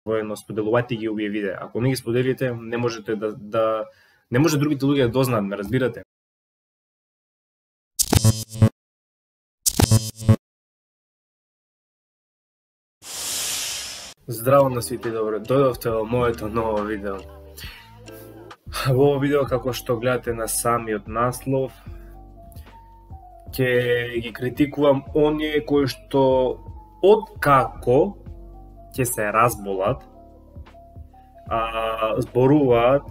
воено споделувајте ги овие видеа. Ако не ги споделите, не можете не може другите луѓе да дознаат, ме разбирате? Здраво на сите, добро дојдовте во моето ново видео. Во ово видео, како што гледате на самиот наслов, ќе ги критикувам оние кои што откако ќе се разболат, зборуваат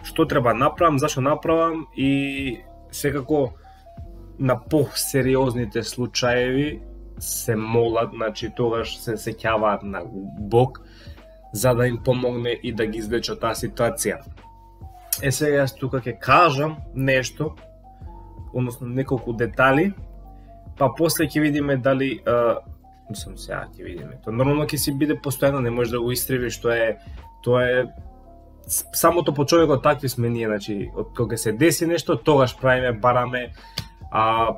што треба направам, зашто направам и секако на посериозните случаеви се молат, значи тогаш се сеќаваат на Бог за да им помогне и да ги излече од таа ситуација. Сега јас тука ќе кажам нешто, односно неколку детали, па после ќе видиме дали сега ќе видиме. Тоа нормално ќе си биде постојано, не може да го истреби, тоа е самото по човекот, такви сме ние, значи од кога се деси нешто, тогаш правиме, бараме,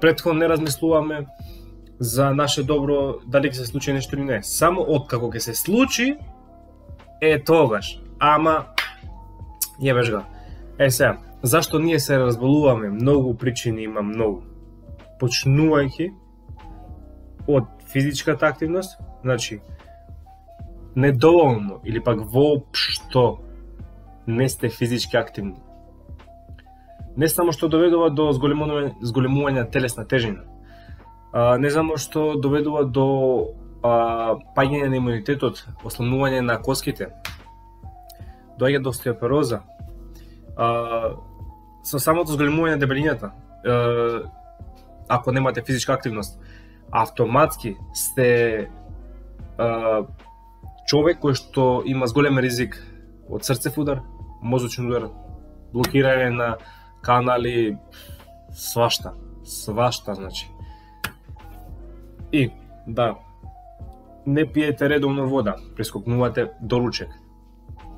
претходно не размислуваме за наше добро, дали ќе се случи нешто или не. Само откако ќе се случи, тогаш. Ама јебеш го. Сега, зашто ние се разболуваме? Многу причини има, многу. Почнувајќи од физичката активност, значи недоволно или пак воопшто не сте физички активни. Не само што доведува до зголемување на телесна тежина, не само што доведува до паѓање на имунитетот, ослабнување на коските, доаѓа до остеопороза, со самото зголемување на дебелината, ако немате физичка активност, автоматски сте човек кој што има зголем ризик од срцев удар, мозочен удар, блокирање на канали, свашта, значи. И, да, не пиете редовно вода, прескокнувате доручек.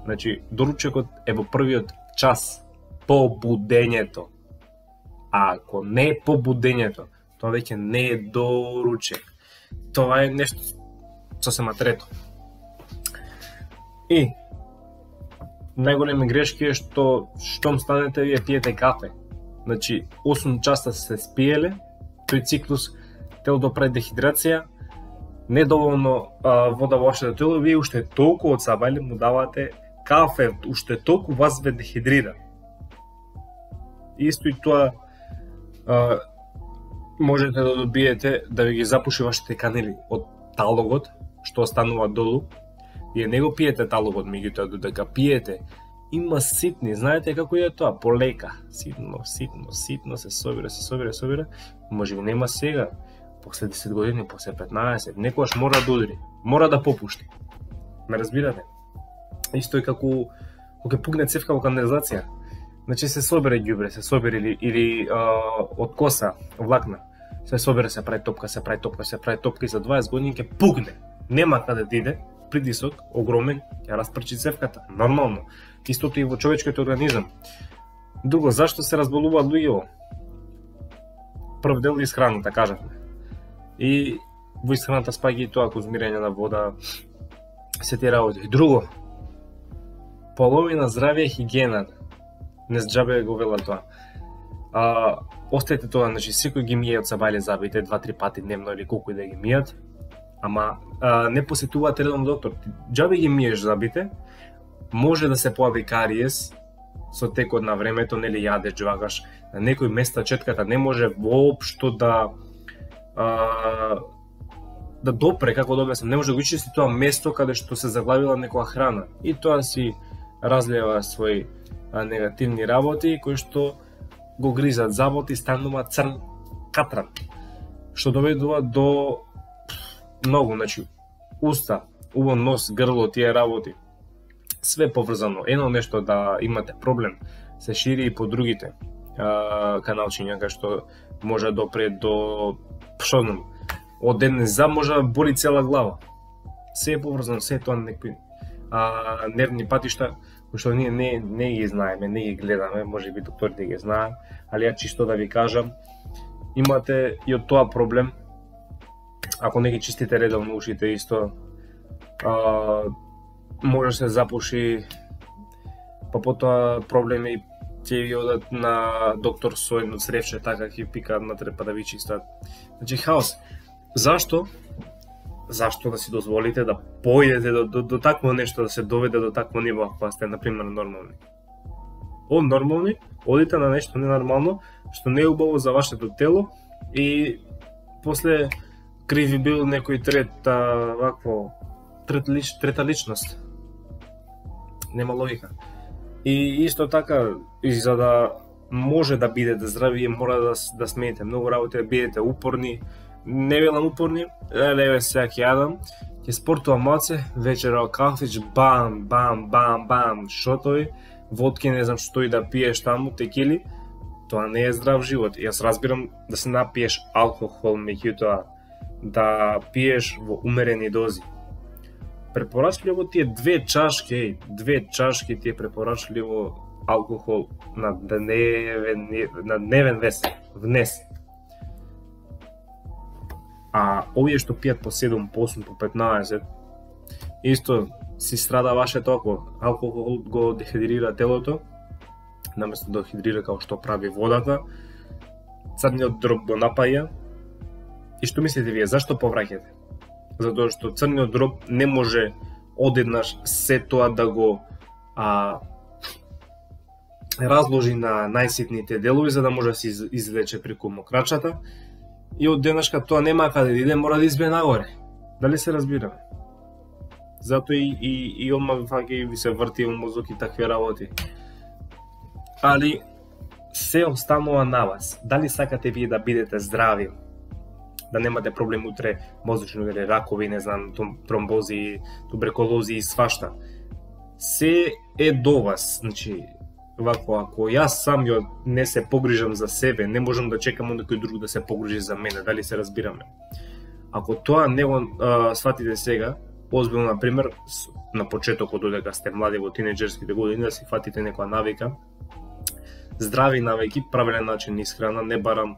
Значи, доручекот е во првиот час по будењето. А ако не е по будењето, тоа веќе не е доручек. Тоа е нешто сосема трето. И најголеми грешки е што штом станете вие пиете кафе. Значи 8 часа се спиеле, тој циклус телото прави дехидрација, недоволно вода во вашето тело, вие уште толку од сабајле му давате кафе, уште толку вас ве дехидрира. Исто и тоа можете да добиете да ви ги запуши вашите канали од талогот што останува долу. Вие не го пиете талогот, меѓутоа додека пиете, има ситни, знаете како е тоа, полека, ситно се собира, може би нема сега, после 10 години, после 15, некојаш мора да удри, мора да попушти. Ме разбирате? Исто е како кога пугне цевка во канализација. Значи се собере ѓубре, се собере или од коса, влакна, се собере, се прави топка и за 20 години ќе пугне. Нема каде да иде, притисок огромен, ќе распрчи цевката, нормално. Истото и во човечкиот организам. Друго, зашто се разболуваат луѓето? Прв дел исхраната, кажавме. И во исхраната спаѓа и тоа конзумирање на вода, се тие работи. Друго, половина здравје е хигиена. Не зџабе го вела тоа. Оставете тоа, значи секој ги мие од сабајле зъбите 2-3 пати дневно или колку и да ги мијат. Ама не посетуваат редовно доктор. Џабе ги миеш зъбите, може да се појави кариес со текот на времето, нели јадеш, џвагаш. На некои места четката не може воопшто да допре, како да објаснам, не може да го ичисти тоа место каде што се заглавила некоја храна. И тоа си разлева своји негативни работи кои што го гризат забот и станува црн катран, што доведува до многу, значи уста, убон нос, грло, тие работи. Све поврзано. Едно нешто да имате проблем се шири и по другите каналчиња кај што може да допре до од еден зъб може да боли цела глава. Се е поврзано, се е тоа некои нервни патишта кои што ние не ги знаеме, не ги гледаме, може би докторите ги знаат, али ја чисто да ви кажам, имате и од тоа проблем. Ако не ги чистите редовно ушите исто, може се запуши, па потоа проблеми ќе ви одат на доктор со едно цревче, така ќе пикаат натре па да ви чистат. Значи хаос. Зашто да си дозволите да поидете до такво нешто, да се доведе до такво ниво, ако сте, например, нормални? Од нормални, одите на нешто ненормално, што не е убаво за вашето тело и после криви бил некој трета личност. Нема логика. И исто така, и за да може да бидете здрави, мора да смените многу работи, да бидете упорни. Не велам упорни, леве сега ќе јадам, ќе спортувам малце, вечера кафич, бам, шотови, водки, не знам што и да пиеш таму, текили, тоа не е здрав живот. Јас разбирам да се напиеш алкохол, меѓутоа да пиеш во умерени дози. Препорачливо ти е 2 чашки ти е препорачливо алкохол на дневен внес. А овие што пијат по 7, по 8, по 15, исто си страда вашето око. Алкохол го дехидрира телото, наместо да хидрира како што прави водата, црниот дроб го напаја. И што мислите вие, зашто повраќате? Затоа што црниот дроб не може одеднаш се тоа да го разложи на најситните делови за да може да се излече преку мокрачата. И од денешка тоа нема каде да иде, мора да избие нагоре. Дали се разбираме? Затоа и одма ви се врти мозок и такви работи. Али се останува на вас. Дали сакате вие да бидете здрави? Да немате проблем утре, мозочни удари, ракови, не знам, тромбози, туберкулози и свашта. Се е до вас. Значи, ако јас сам не се погрижам за себе, не можам да чекам од некој друг да се погрижи за мене, дали се разбираме. Ако тоа не го сватите сега, озбилно, например, на почетокот додека сте млади во тинеџерските години, да си фатите некоја навика, здрави навики, правилен начин исхрана, не барам,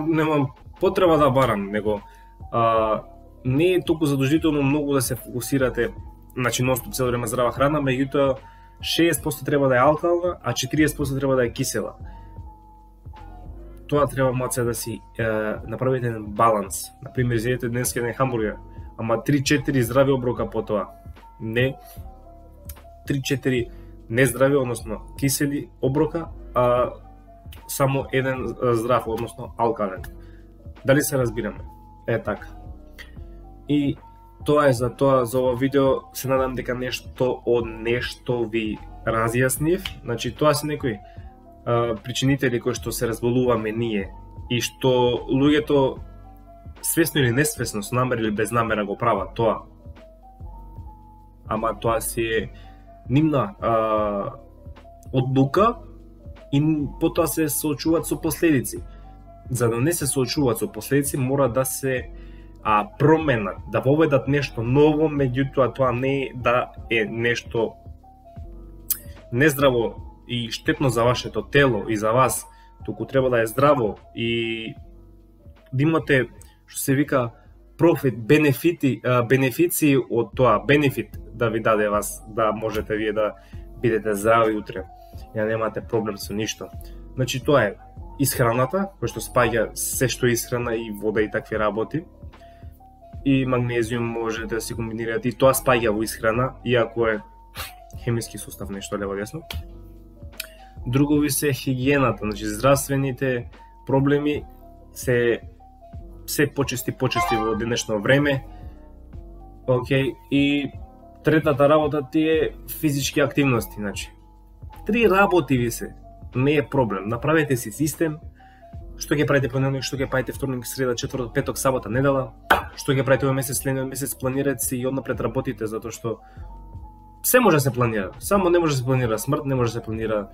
немам потреба да барам, него не е толку задолжително многу да се фокусирате, значи ностоп цело време здрава храна, меѓутоа 60% треба да е алкална, а 40% треба да е кисела. Тоа треба маце да си направите еден баланс. Например, изедете денес еден хамбургер, ама 3-4 здрави оброка по тоа. Не 3-4 нездрави, односно кисели оброка, а само еден здрав, односно алкален. Дали се разбираме? Е така. И тоа е за ова видео. Се надам дека нешто ви разјаснив. Значи, тоа се некои причинители кои што се разболуваме ние и што луѓето свесно или несвесно, со намера или без намера го прават тоа. Ама тоа си е нивна одлука и потоа се соочуваат со последици. За да не се соочуваат со последици, мора да се променат, да воведат нешто ново, меѓутоа тоа не да е нешто нездраво и штетно за вашето тело и за вас, туку треба да е здраво и да имате, што се вика, профит, бенефиции од тоа, бенефит да ви даде вас, да можете вие да бидете здрави утре, и да немате проблем со ништо. Значи, тоа е исхраната, кој што спаѓа се што е исхрана и вода и такви работи, и магнезиум можете да си комбинирате, и тоа спаѓа во исхрана, иако е хемиски сустав, нешто лево десно. Друго ви се хигиената, значи здравствените проблеми се почести во денешно време. Океј, и третата работа ти е физички активности, значи 3 работи ви се, не е проблем. Направете си систем, што ќе правите понеделник, што ќе правите вторник, среда, четврток, петок, сабота, недела, што ќе правите овој месец, следниот месец, планирате си и однапред работите, затоа што се може да се планира, само не може да се планира смрт, не може да се планира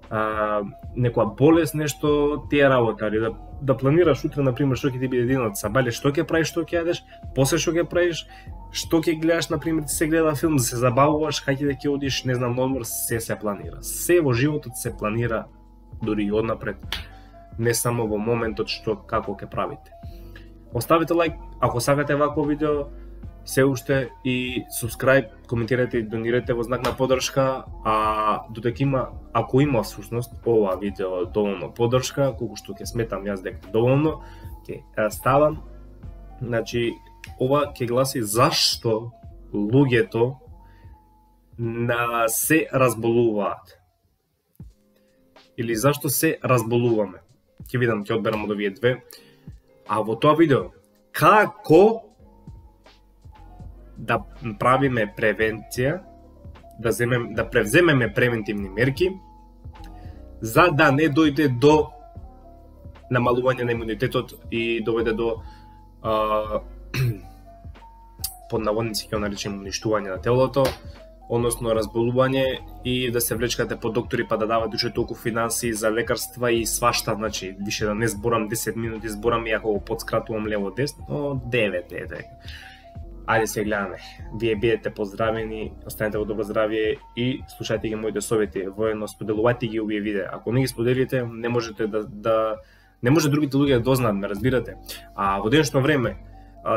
некоја болест, нешто тие работи, али да планираш утре, например, што ќе ти биде денот, сабајле што ќе правиш, што ќе јадеш, после што ќе правиш, што ќе гледаш, например, ти се гледа филм, да се забавуваш, кај ќе одиш, не знам, на одмор, се планира. Се во животот се планира, дури и однапред, не само во моментот што како ќе правите. Оставите лайк, ако сакате вакво видео, се уште и subscribe, коментирате и донирате во знак на поддршка, а додека ако има всушност ова видео доволно поддршка, колку што ќе сметам јас дека доволно, ќе ставам. Значи, ова ќе гласи зашто луѓето се разболуваат. Или зашто се разболуваме. Ќе видам, ќе одберам од овие две. А во тоа видео, како да правиме превенција, да превземеме превентивни мерки, за да не дојде до намалување на имунитетот и доведе до под наводници ќе наречем уништување на телото, односно разболување и да се влечкате по доктори па да давате уште толку финанси за лекарства и свашта, значи више да не зборам 10 минути, зборам и ако го подскратувам лево десно, 9 е. Ајде се гледаме. Вие бидете поздравени, останете во добро здравје и слушајте ги моите совети, воедно споделувајте ги овие видеа. Ако не ги споделите, не можете не може другите луѓе да дознаат, ме разбирате. А во денешно време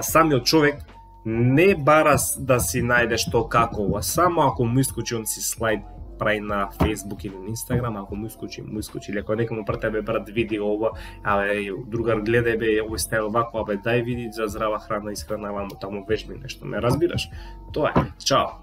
самиот човек не бара да си најде што како, а само ако му искочи он си слайд прави на Facebook или на Instagram, ако му искочи, или ако некому прате, бе брат, види ова, другар гледај, бе, овој стај овако, бе, дај види за здрава храна, исхранавам таму вежби нешто, ме разбираш? Тоа е, чао!